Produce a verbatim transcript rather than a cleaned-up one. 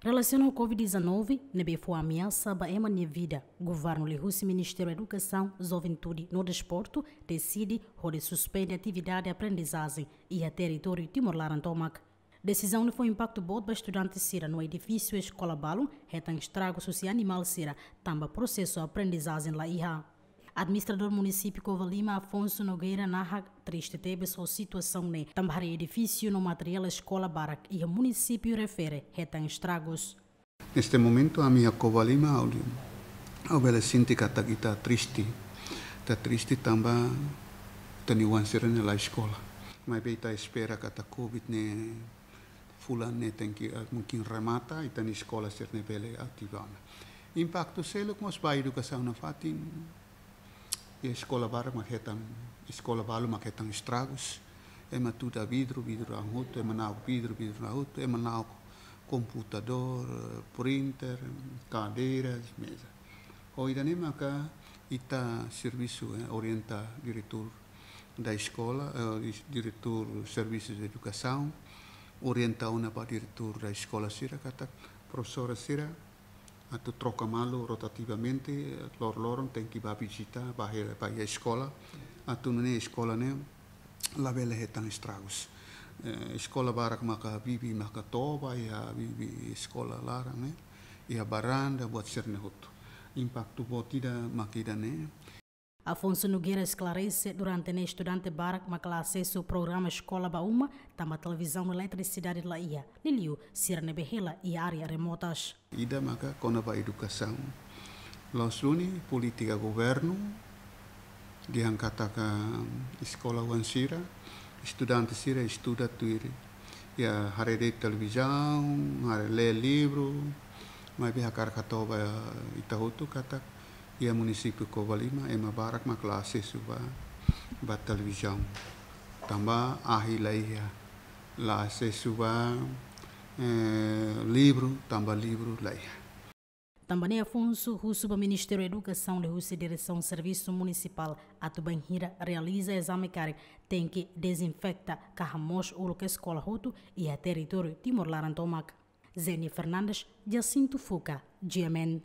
Relasiona ho Covid dezanove, ne'ebé fó ameasa ba ema nia vida, governu liuhusi Ministériu Edukasaun, Juventude no Desportu deside hodi suspende atividade aprendizajen iha territóriu Timor laran tomak. Desizaun ne'e fó impaktu boot ba estudante sira no edifísiu eskola balun, hetan estragus husi animál sira, tanba prosesu aprendizajen la iha. Administradór Munisípiu Covalima, Afonso Nogueira, nahak triste tebes ho situasaun ne'e, tanba haree edifísiu no materiál eskola barak iha munisípiu refere hetan estragus. Neste momentu, ami iha Covalima, ha'u, ha'u bele sente katak ita triste. Ita triste tanba ita-nia oan sira-ne'e la eskola. Maibé ita espera katak Covid ne'e fulan ne'e tenke, eh, mungkin remata, ita-nia eskola sira-ne'e bele ativa ona. Impaktu seluk mós ba edukasaun nafatin, iha eskola barak mak hetan, eskola balu mak hetan estragus. Ema tuda vidru, vidru la'o hotu, ema na'ok vidru, vidru la'o hotu, ema na'ok komputadór, eh, printer, kadeiras, meza. Ho ida-ne'e maka ita servisu, eh, orienta diretór da eskola, eh, dis-, diretór servisu edukasaun, orienta ona ba diretór da eskola sira katak profesór sira atu troka malu rotativamente, eh, lor-loron tenke ba vizita, ba he-, ba iha eskola, atu nune'e eskola ne'e labele hetan estragus. Eh, eskola barak maka bibi maka toba, iha bibi eskola laran ne'e, iha baranda, buat sira-ne'e hotu. Impaktu boot ida mak ida-ne'e. Afonso Nogueira esklarese, durante ne'e estudante barak mak la asesu programa eskola ba uma, tanba televizaun no eletrisidade la iha, liuliu sira ne'ebé hela iha área remotas. Ida maka kona-ba edukasaun. La'ós duni polítika governu, dehan katak eskola oan sira, estudante sira estuda tuir iha haree de'it televizaun, haree lee livru, maibé hakarak hato'o ba ita hotu katak iha munisípiu Covalima, ema barak mak la asesu ba, ba televizaun. Tanba ahi la iha, la asesu ba, eh, livru, tanba livru la iha. Tanba ne'e Afonso husu ba Ministériu Edukasaun liuhusi Diresaun Servisu Munisipál atu bainhira realiza ezame karik tenke dezinfeta ka hamoos uluk eskola hotu iha territóriu Timor laran tomak. Zenia Fernandes, Jacinto Fuca, G M N.